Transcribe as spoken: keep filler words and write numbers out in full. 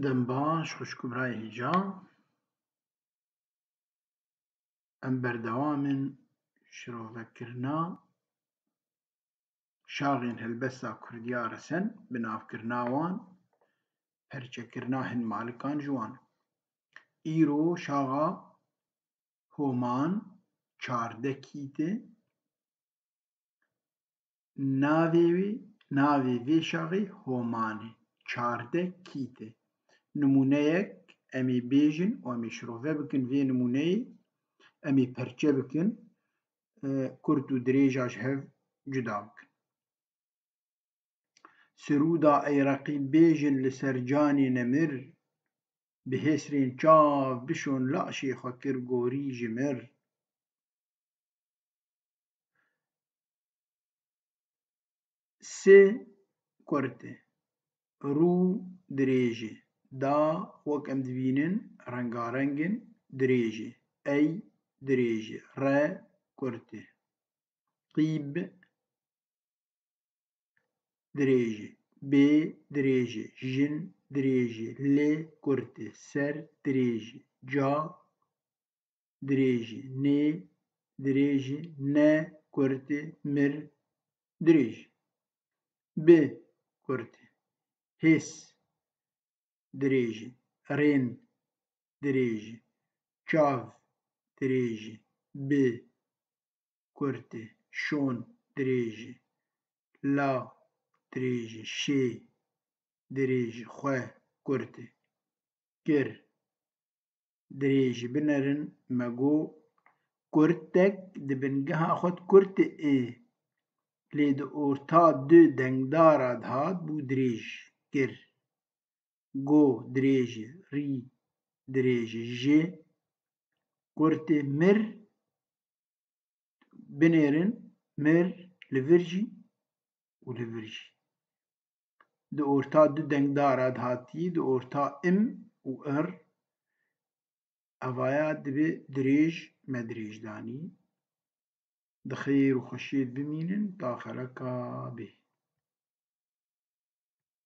دەم باش خوشک و برای هێژا. ئەم بەردەوامن شرۆڤەکردنا شاغێن هەلبەستا کوردیا ڕەسەن بناوکردنا وان پەرچەکردنا هن مالکان ji wan. Îro şaxa Homan çardeh kîtê navê wê navê vê şaxê Homan e. Çardeh kîtê. Nimûneyek em ê bêjin û em ê şirove bikin vê nimûneyê em ê perçe bikin kurt û dirêja ji hev cuda bikin. Sirûda ey reqîb bêjin li ser canê nemir bi hêsrên çav bişon laşê xwe kir gorî ji mir. Sê kurt e, rû dirêj e, da wek em dibînin rengareng in dirêj e, ey dirêj e, re kurt e, qîb dirêj e, bê dirêj e, jin dirêj e, lê kurt e, ser dirêj e, ca dirêj e, nê dirêj e, ne kurt e, mir dirêj e, bi kurt e, hês dirêj e, rên dirêj e, çav dirêj e, bi kurt e, şon dirêj e, la dirêj e, şê dirêj e, xwe kurt e, kir dirêj e. Binerin me got kurtek di bingeha xwe de kurt e lê di orta du dengdara dihat bû dirêj kir. Go dirêj e, rî dirêj e, ji kurt e, mir binêrin mir li vir jî û li vir jî. Di orta du dengdara dihatî di orta im û ir evaya dibe dirêj me dirêj danî. Di xêr û xweşiyê bimînin ta xeleka bê.